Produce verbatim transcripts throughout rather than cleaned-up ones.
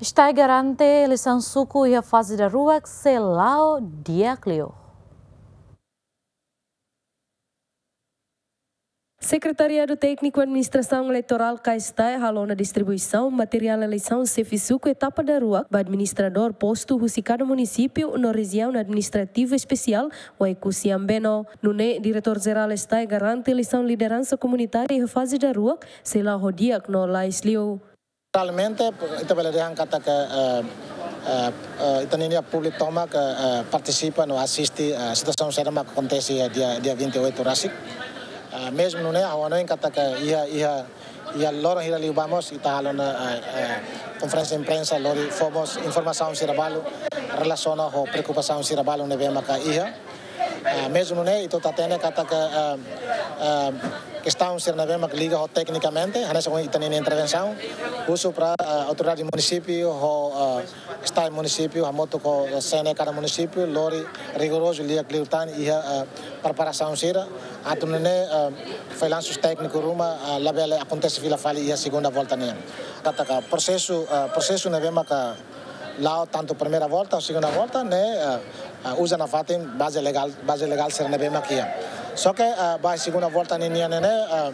STAE garante eleisaun suku iha faze daruak sei la'o di'ak liu. Sekretariadu Tékniku Administrasaun Eleitorál ka STAE halo ona distribuisaun materiál eleisaun xefe suku etapa daruak ba administradór postu husi kada munisípiu no rejiaun administrativu espesiál Oekusi Ambeno. Nune'e, Diretór Jerál STAE garante eleisaun lideransa komunitária iha faze daruak sei la'o ho di'ak no lalais liu. Realmente, ita bele dehan katak, eh, eh, eh, ita-nia públiku tomak, eh, partisipa no asiste, eh, situasaun saida mak akontese iha dia, dia vinte e oito rasik. Eh, mezmu nune'e, ha'u hanoin katak iha, iha, iha loron hira liubá mós ita halo ona, eh, eh, konferénsia imprensa lori fó mós informasaun sira balu relasiona ho preokupasaun sira balu ne'ebé maka iha. Ah, mezmu nune'e, ita hatene katak, ah, ah, kestaun sira ne'ebé mak liga ho teknikamente, hanesan ohin ita-nia intervensaun, husu para, ah, autoridade munisípiu, ho, ah, STAE munisípiu, hamutuk ho, ah, CNE kada munisípiu, lori rigorozu liu-liu tan iha, ah, preparasaun sira, atu nune'e, ah, felansus tékniku ruma, ah, labele akontese fila fali iha segunda volta nian. Katak prosesu, ah, prosesu ne'ebé maka la'o tantu primeira volta ou segunda volta, ne'e, eh, eh, uza nafatin baze legál, baze legál sira ne'ebé mak iha. Só ke, eh, ba segunda volta ninian ne'e, eh,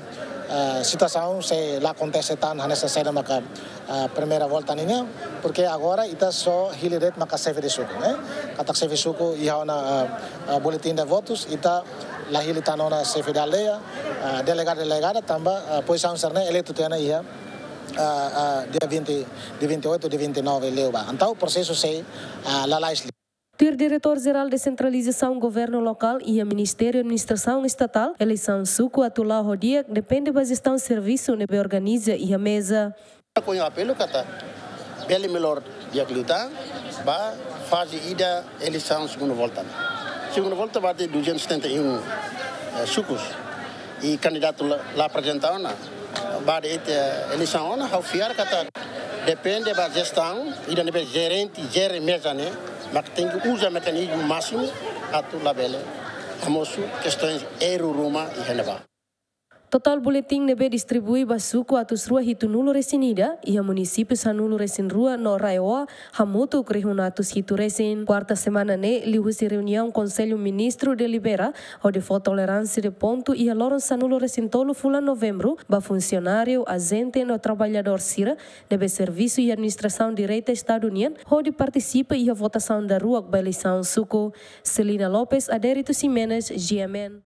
eh, situasaun sei la akontese tan hanesan saida maka, eh, primeira volta ninian, porque agora ita só hili de'it maka xefe de suku, ne'e? Katak xefe suku iha ona, eh, eh, boletim de votus, ita la hili tan ona xefe de aldeia, eh, delegadu, delegada, tanba, eh, pozisaun sira-ne'e eleitu tiha ona iha, ah, ah, dia vinte, dia vinte e oito, dia vinte e nove liubá. Entaun, prosesu sei, ah, lalais liu. Tuir Diretór Jerál Desentralizasaun Governu Lokál iha Ministériu Administrasaun Estatál, eleisaun suku atu la'o ho di'ak depende ba jestaun servisu ne'ebé organiza iha meza. Ha'u apelu katak bele melhor di'ak liután ba faze ida eleisaun segunda volta. Segunda volta ba de duzentos e setenta e um, eh, sukus. I kandidatu la, la aprezenta ona. Ba de'it, eh, eleisaun ona, ha'u fiar katak depende ba jestaun, ida ne'ebé jerente, jere meza ne'e, mak tenke uza mekanizmu másimu, atu labele hamosu kestaun erru ruma iha ne'ebá. Totál boletin ne'ebé distribui ba suku atus rua hitunulu resin ida, iha munisípiu sanulu-resin-rua no RAEOA, hamutuk rihun atus hitu resin. Kuarta semana ne'e, liuhusi reuniaun Konsellu Ministru delibera, hodi fó toleránsia de pontu iha loron sanulu-resin-tolu fulan Novembru, ba funsionáriu, ajente no traballadór sira, ne'ebé servisu iha administrasaun direta Estadu nian, hodi partisipa iha votasaun daruak ba eleisaun suku. Celina Lopes, Adérito Ximenes, GMN.